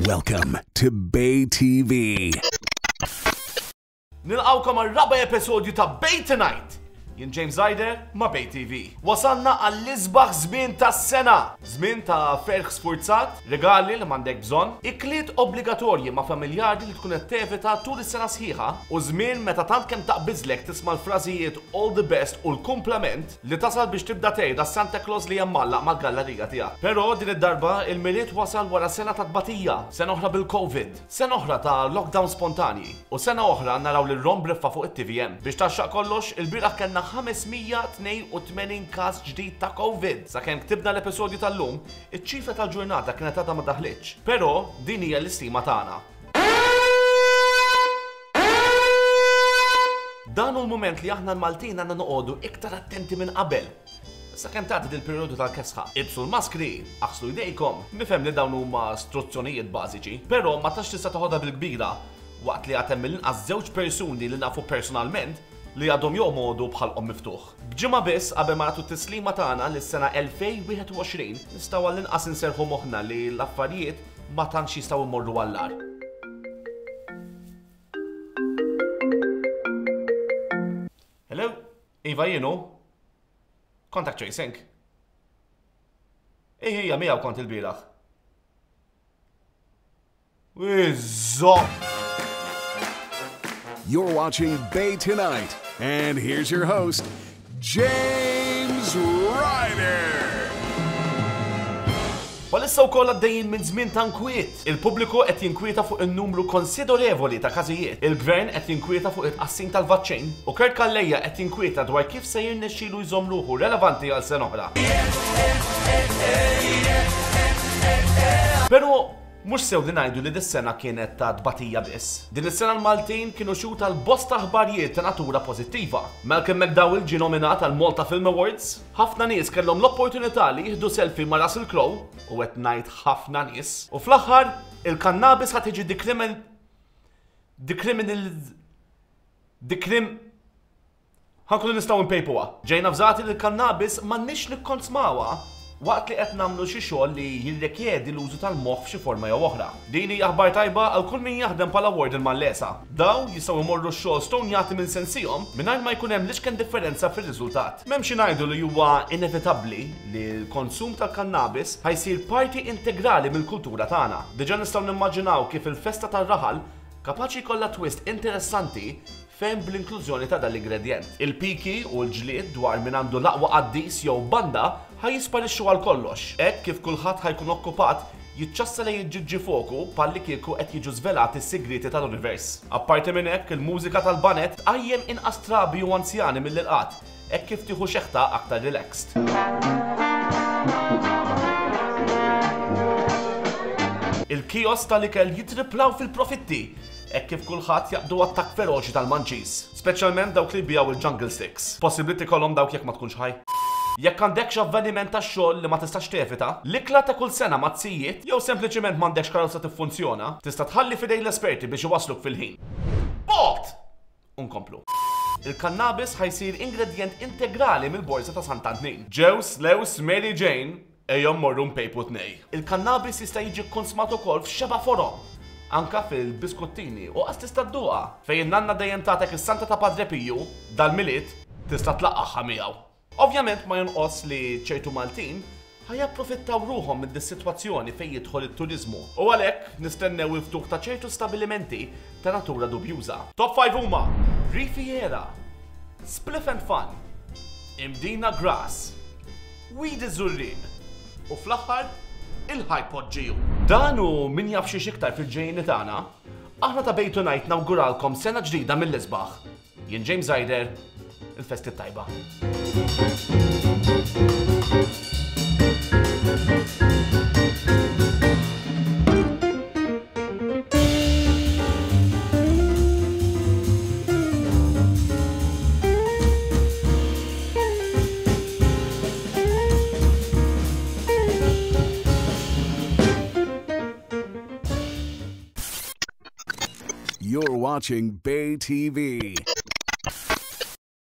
Welcome to Bay TV. Nilqawkom għal raba episodju ta' Bay Tonight. Jien James Ryder ma' Bay TV. Wasalna għall-isbaħ żmien tas-sena. Żmien ta' ferħ sfurzat, regali li m'għandek bżonn, ikliet obbligatorji ma' familjari li tkun qed tevita tul is-sena sħiħa, u żmien meta tant kemm taqbiżlek tisma' l-frażijiet all the best u l-kumplament li tasal biex tibda tgħid għas-Santa Claus li hemm mgħallaq mal-gallarija tiegħek. Però din id-darba il-Milied wasal wara sena ta' tbatija, sena oħra bil-Covid, sena oħra ta' lockdown spontanji u sena oħra naraw lil Ron Briffa fuq it-TVM. Biex tgħaxxaq kollox, ilbieraħ kellna 582 każ ġdid ta' Covid! Sakemm ktibna l-episodju tal-lum, iċ-ċifra tal-ġurnata kienet għadha ma daħlitx. Però din hija l-istima tagħna. Dan hu l-mument li aħna l-Maltin għandna noqogħdu iktar attenti minn qabel. Sakemm tgħaddi dil-perjodu tal-kesħa. Ilbsu l-maskri, aħslu jdejkom. Nifhem li dawn huma struzzjonijiet bażiċi, però ma tantx tista' toħodha bil-kbira waqt li għad hemm mill-inqas żewġ persuni li nafu personalment li għadhom jomogħdu b'ħalqhom miftuħ. B'ġimgħa biss qabel ma nagħtu t-tislima tagħna lis-sena 2021, nistgħu għall-inqas inserrħu moħħna li l-affarijiet ma tantx jistgħu jmorru għall-agħar. Hello? Iva jien hu? Contact tracing. Ej, hija miegħu kont il-bieraħ. Iżżo! You're watching Bay Tonight, and here's your host, James Ryder! Bħalissa wkoll għaddejjin minn żmien ta' nkwiet. Il-pubbliku qed jinkwieta fuq in-numru konsiderevoli ta' każijiet, il-Gvern qed jinkwieta fuq it-tqassim tal-vaċċin u Kurt Calleja qed jinkwieta dwar kif se jirnexxilu jżomm ruħu relevanti għal sena oħra. Però Mhux sew li ngħidu li dis-sena kienet ta' tbatija biss. Din is-sena l-Maltin kienu xhud għal bosta aħbarjiet ta' natura pożittiva. Malcolm McDowell ġie nominat għal Malta Film Awards, ħafna nies kellhom l-opportunità li jieħdu selfie ma' Russell Crowe, u qed ngħid ħafna nies, u fl-aħħar, il-kannabis ħa tiġi dekrimin dekriminal dekrim Ħa nkunu nistgħu npejpuha. Ġejna avżati li l-kannabis m'għandniex nikkonsmawha waqt li qed nagħmlu xi xogħol li jirrikjedi l-użu tal-moħħ f'xi forma jew oħra. Din hija aħbar tajba għal kull min jaħdem bħala warden mal-LESA. Dawn jistgħu jmorru x-xogħol stonjati minn sensihom mingħajr ma jkun hemm l-iċken differenza fir-riżultat. M'hemm xi ngħidu li huwa inevitabbli li l-konsum tal-kannabis ħa jsir parti integrali mill-kultura tagħna. Diġà nistgħu nimmaġinaw kif il-festa tar-raħal kapaċi jkollha twist interessanti ferm bl-inklużjoni ta' dan l-ingredjent. Il-piki u l-ġlied dwar min għandu l-aqwa qaddis jew banda ħa jisparixxu għal kollox, hekk kif kulħadd ħa jkun okkupat jiċċassa lejn iġġiġġi foku bħallikieku qed jiġu żvelati s-sigrieti tal-univers. Apparti minn hekk, il-mużika tal-baned tqajjem inqas trabi u anzjani mill-irqad, hekk kif tieħu xeħta aktar relaxed. Il-kiosks tal-ikel jittriplaw fil-profitti hekk kif kulħadd jaqbdu attakk feroċi tal-munchies, speċjalment dawk li jbigħu il-jungle sticks. Possibbli tikolhom dawk jekk ma tkunx ħaj. Jekk għandekx avveniment tax-xogħol li ma tistax tevita, l-ikla ta' kull sena mat-tzijiet, jew sempliċiment m'għandekx karozza tiffunzjona, tista' tħalli f'idejn l-esperti biex iwassluk fil-ħin. Bogħod! U nkomplu. Il-kannabis ħa jsir ingredjent integrali mill-borża ta' Sant'Antnin. Ġews, Lews, Mary Jane, ejjew mmorru npejpu tnej. Il-kannabis jista' jiġi kkonsmat ukoll f'xebgħa forom, anke fil-biskuttini u qas tista' dduqha. Fejn in-nanna dejjem tagħtek is-Santa ta' Padre Piju, dal-Milied tista' tlaqqagħha miegħu. Ovvjament ma jonqos li ċertu Maltin ħa japprofittaw ruħhom minn dis-sitwazzjoni fejn jidħol it-turiżmu u għalhekk nistennew il-ftuħ ta' ċertu stabilimenti ta' natura dubjuża. Top 5 huma, Rifiera, Spliff and Fun, Imdina Grass, Weed iż-Żurrieq u fl-aħħar il-High Pot GU. Dan u min jaf xiex iktar fil-ġejjieni tagħna, aħna ta' Bay Tonight nawguralkom sena ġdida mill-isbaħ. Jien James Ryder, il-festi t-tajba. You're watching Bay TV.